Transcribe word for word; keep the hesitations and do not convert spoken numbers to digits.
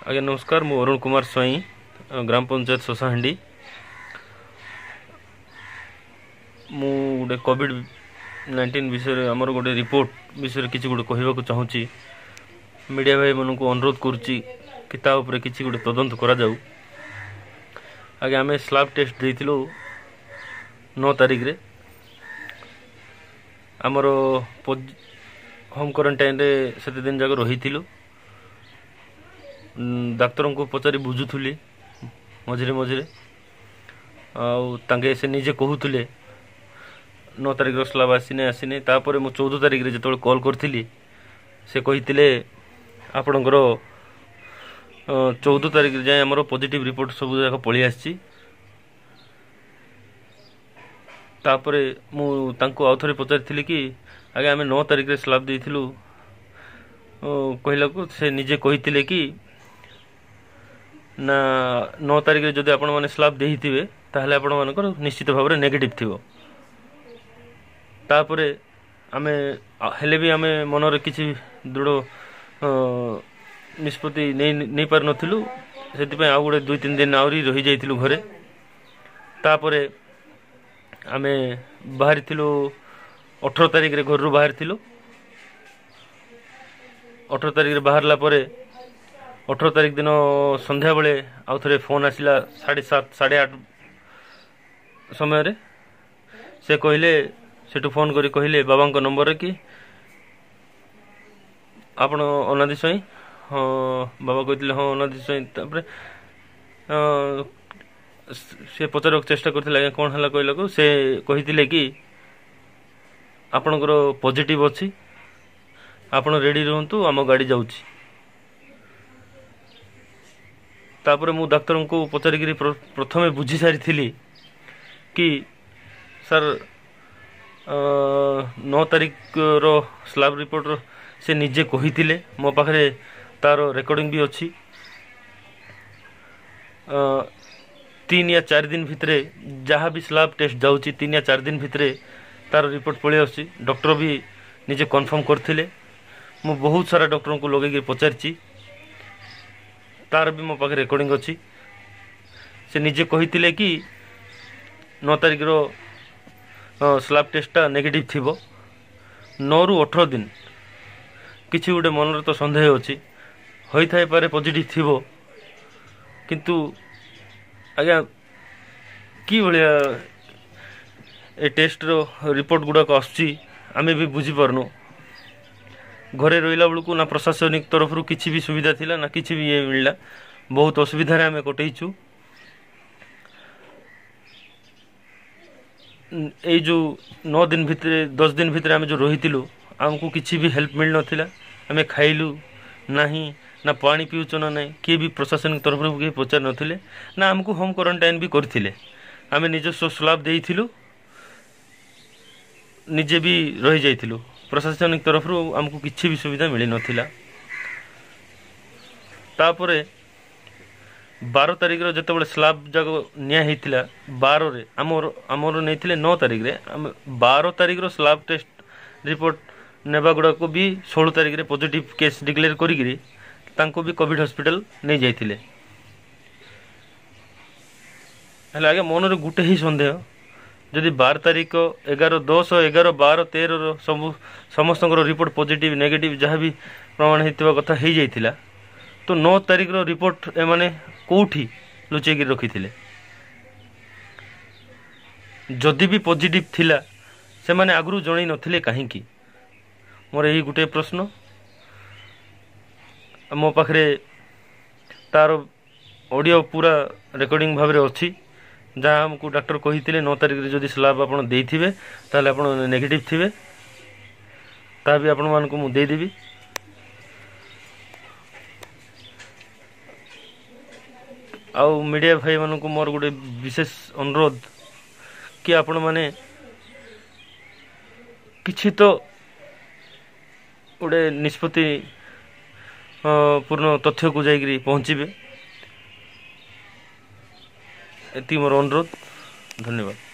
ଆଜ୍ଞା ନମସ୍କାର, ମୁଁ ଅରୁଣ କୁମାର ସ୍ୱାଇଁ, ଗ୍ରାମ ପଞ୍ଚାୟତ ଶଶାହାଣ୍ଡି। ମୁଁ ଗୋଟେ କୋଭିଡ଼ ନାଇଣ୍ଟିନ୍ ବିଷୟରେ, ଆମର ଗୋଟେ ରିପୋର୍ଟ ବିଷୟରେ କିଛି ଗୋଟେ କହିବାକୁ ଚାହୁଁଛି। ମିଡ଼ିଆ ଭାଇମାନଙ୍କୁ ଅନୁରୋଧ କରୁଛି କି ତା ଉପରେ କିଛି ଗୋଟେ ତଦନ୍ତ କରାଯାଉ। ଆଜ୍ଞା, ଆମେ ସ୍ଲାବ୍ ଟେଷ୍ଟ ଦେଇଥିଲୁ ନଅ ତାରିଖରେ। ଆମର ହୋମ୍ କ୍ୱାରେଣ୍ଟାଇନ୍ରେ ସେତେ ଦିନ ଯାକ ରହିଥିଲୁ। ଡାକ୍ତରଙ୍କୁ ପଚାରି ବୁଝୁଥିଲି ମଝିରେ ମଝିରେ, ଆଉ ତାଙ୍କେ ସେ ନିଜେ କହୁଥିଲେ ନଅ ତାରିଖର ସ୍ଲାବ୍ ଆସିନି, ଆସିନି। ତାପରେ ମୁଁ ଚଉଦ ତାରିଖରେ ଯେତେବେଳେ କଲ୍ କରିଥିଲି, ସେ କହିଥିଲେ ଆପଣଙ୍କର ଚଉଦ ତାରିଖରେ ଯାଏଁ ଆମର ପଜିଟିଭ୍ ରିପୋର୍ଟ ସବୁ ଯାକ ପଳେଇ ଆସିଛି। ତାପରେ ମୁଁ ତାଙ୍କୁ ଆଉ ଥରେ ପଚାରିଥିଲି କି ଆଜ୍ଞା, ଆମେ ନଅ ତାରିଖରେ ସ୍ଲାବ୍ ଦେଇଥିଲୁ କହିଲାକୁ ସେ ନିଜେ କହିଥିଲେ କି ନା, ନଅ ତାରିଖରେ ଯଦି ଆପଣମାନେ ସ୍ଲାବ୍ ଦେଇଥିବେ ତାହେଲେ ଆପଣମାନଙ୍କର ନିଶ୍ଚିତ ଭାବରେ ନେଗେଟିଭ୍ ଥିବ। ତାପରେ ଆମେ ହେଲେ ବି ଆମେ ମନରେ କିଛି ଦୃଢ଼ ନିଷ୍ପତ୍ତି ନେଇ ନେଇପାରିନଥିଲୁ। ସେଥିପାଇଁ ଆଉ ଗୋଟେ ଦୁଇ ତିନି ଦିନ ଆହୁରି ରହିଯାଇଥିଲୁ ଘରେ। ତାପରେ ଆମେ ବାହାରିଥିଲୁ, ଅଠର ତାରିଖରେ ଘରରୁ ବାହାରିଥିଲୁ। ଅଠର ତାରିଖରେ ବାହାରିଲା ପରେ ଅଠର ତାରିଖ ଦିନ ସନ୍ଧ୍ୟାବେଳେ ଆଉ ଥରେ ଫୋନ୍ ଆସିଲା ସାଢ଼େ ସାତ ସାଢ଼େ ଆଠ ସମୟରେ। ସେ କହିଲେ, ସେଠୁ ଫୋନ୍ କରି କହିଲେ ବାବାଙ୍କ ନମ୍ବରରେ କି ଆପଣ ଅନାଦି ସ୍ୱାଇଁ? ହଁ, ବାବା କହିଥିଲେ ହଁ, ଅନାଦି ସ୍ୱାଇଁ। ତାପରେ ସେ ପଚାରିବାକୁ ଚେଷ୍ଟା କରିଥିଲେ, ଆଜ୍ଞା କ'ଣ ହେଲା କହିଲାକୁ ସେ କହିଥିଲେ କି ଆପଣଙ୍କର ପଜିଟିଭ୍ ଅଛି, ଆପଣ ରେଡ଼ି ରୁହନ୍ତୁ, ଆମ ଗାଡ଼ି ଯାଉଛି। ତାପରେ ମୁଁ ଡାକ୍ତରଙ୍କୁ ପଚାରିକିରି ପ୍ରଥମେ ବୁଝି ସାରିଥିଲି କି ସାର୍, ନଅ ତାରିଖର ସ୍ଲାବ୍ ରିପୋର୍ଟର ସେ ନିଜେ କହିଥିଲେ, ମୋ ପାଖରେ ତାର ରେକର୍ଡ଼ିଂ ବି ଅଛି, ତିନି ୟା ଚାରି ଦିନ ଭିତରେ ଯାହା ବି ସ୍ଲାବ୍ ଟେଷ୍ଟ ଯାଉଛି, ତିନି ୟା ଚାରି ଦିନ ଭିତରେ ତାର ରିପୋର୍ଟ ପଳେଇ ଆସୁଛି। ଡକ୍ଟର ବି ନିଜେ କନଫର୍ମ କରିଥିଲେ। ମୁଁ ବହୁତ ସାରା ଡକ୍ଟରଙ୍କୁ ଲଗେଇକି ପଚାରିଛି, ତାର ବି ମୋ ପାଖରେ ରେକର୍ଡ଼ିଂ ଅଛି। ସେ ନିଜେ କହିଥିଲେ କି ନଅ ତାରିଖର ସ୍ଲାବ୍ ଟେଷ୍ଟଟା ନେଗେଟିଭ୍ ଥିବ। ନଅରୁ ଅଠର ଦିନ କିଛି ଗୋଟେ ମନରେ ତ ସନ୍ଦେହ ଅଛି, ହୋଇଥାଇପାରେ ପଜିଟିଭ୍ ଥିବ। କିନ୍ତୁ ଆଜ୍ଞା, କି ଭଳିଆ ଏ ଟେଷ୍ଟର ରିପୋର୍ଟ ଗୁଡ଼ାକ ଆସୁଛି ଆମେ ବି ବୁଝିପାରୁନୁ। ଘରେ ରହିଲା ବେଳକୁ ନା ପ୍ରଶାସନିକ ତରଫରୁ କିଛି ବି ସୁବିଧା ଥିଲା, ନା କିଛି ବି ଇଏ ମିଳିଲା। ବହୁତ ଅସୁବିଧାରେ ଆମେ କଟେଇଛୁ। ଏଇ ଯେଉଁ ନଅ ଦିନ ଭିତରେ, ଦଶ ଦିନ ଭିତରେ ଆମେ ଯେଉଁ ରହିଥିଲୁ, ଆମକୁ କିଛି ବି ହେଲ୍ପ ମିଳିନଥିଲା। ଆମେ ଖାଇଲୁ ନାହିଁ, ନା ପାଣି ପିଉଛୁ ନା ନାହିଁ, କିଏ ବି ପ୍ରଶାସନିକ ତରଫରୁ କେହି ପଚାରି ନଥିଲେ, ନା ଆମକୁ ହୋମ୍ କ୍ୱାରେଣ୍ଟାଇନ୍ ବି କରିଥିଲେ। ଆମେ ନିଜସ୍ୱ ସ୍ଲାବ୍ ଦେଇଥିଲୁ, ନିଜେ ବି ରହିଯାଇଥିଲୁ। ପ୍ରଶାସନିକ ତରଫରୁ ଆମକୁ କିଛି ବି ସୁବିଧା ମିଳିନଥିଲା। ତାପରେ ବାର ତାରିଖର ଯେତେବେଳେ ସ୍ଲାବ୍ ଯାକ ନିଆ ହେଇଥିଲା ବାରରେ, ଆମର ଆମର ନେଇଥିଲେ ନଅ ତାରିଖରେ, ଆମେ ବାର ତାରିଖର ସ୍ଲାବ୍ ଟେଷ୍ଟ ରିପୋର୍ଟ ନେବା ଗୁଡ଼ାକୁ ବି ଷୋହଳ ତାରିଖରେ ପଜିଟିଭ୍ କେସ୍ ଡିକ୍ଲେୟାର କରିକିରି ତାଙ୍କୁ ବି କୋଭିଡ଼ ହସ୍ପିଟାଲ ନେଇଯାଇଥିଲେ। ହେଲେ ଆଜ୍ଞା, ମନରେ ଗୋଟେ ହିଁ ସନ୍ଦେହ, ଯଦି ବାର ତାରିଖ, ଏଗାର, ଦଶ, ଏଗାର, ବାର, ତେରର ସବୁ ସମସ୍ତଙ୍କର ରିପୋର୍ଟ ପଜିଟିଭ୍ ନେଗେଟିଭ୍ ଯାହା ବି ପ୍ରମାଣ ହେଇଥିବା କଥା ହେଇଯାଇଥିଲା, ତ ନଅ ତାରିଖର ରିପୋର୍ଟ ଏମାନେ କେଉଁଠି ଲୁଚେଇକି ରଖିଥିଲେ? ଯଦି ବି ପଜିଟିଭ୍ ଥିଲା, ସେମାନେ ଆଗରୁ ଜଣେଇ ନଥିଲେ କାହିଁକି? ମୋର ଏହି ଗୋଟିଏ ପ୍ରଶ୍ନ। ମୋ ପାଖରେ ତାର ଅଡ଼ିଓ ପୁରା ରେକର୍ଡ଼ିଂ ଭାବରେ ଅଛି, ଯାହା ଆମକୁ ଡାକ୍ତର କହିଥିଲେ ନଅ ତାରିଖରେ ଯଦି ସ୍ଲାବ୍ ଆପଣ ଦେଇଥିବେ ତାହେଲେ ଆପଣ ନେଗେଟିଭ୍ ଥିବେ। ତାହା ବି ଆପଣମାନଙ୍କୁ ମୁଁ ଦେଇଦେବି। ଆଉ ମିଡ଼ିଆ ଭାଇମାନଙ୍କୁ ମୋର ଗୋଟେ ବିଶେଷ ଅନୁରୋଧ କି ଆପଣମାନେ କିଛି ତ ଗୋଟେ ନିଷ୍ପତ୍ତି ପୂର୍ଣ୍ଣ ତଥ୍ୟକୁ ଯାଇକରି ପହଞ୍ଚିବେ, ଏତିକି ମୋର ଅନୁରୋଧ। ଧନ୍ୟବାଦ।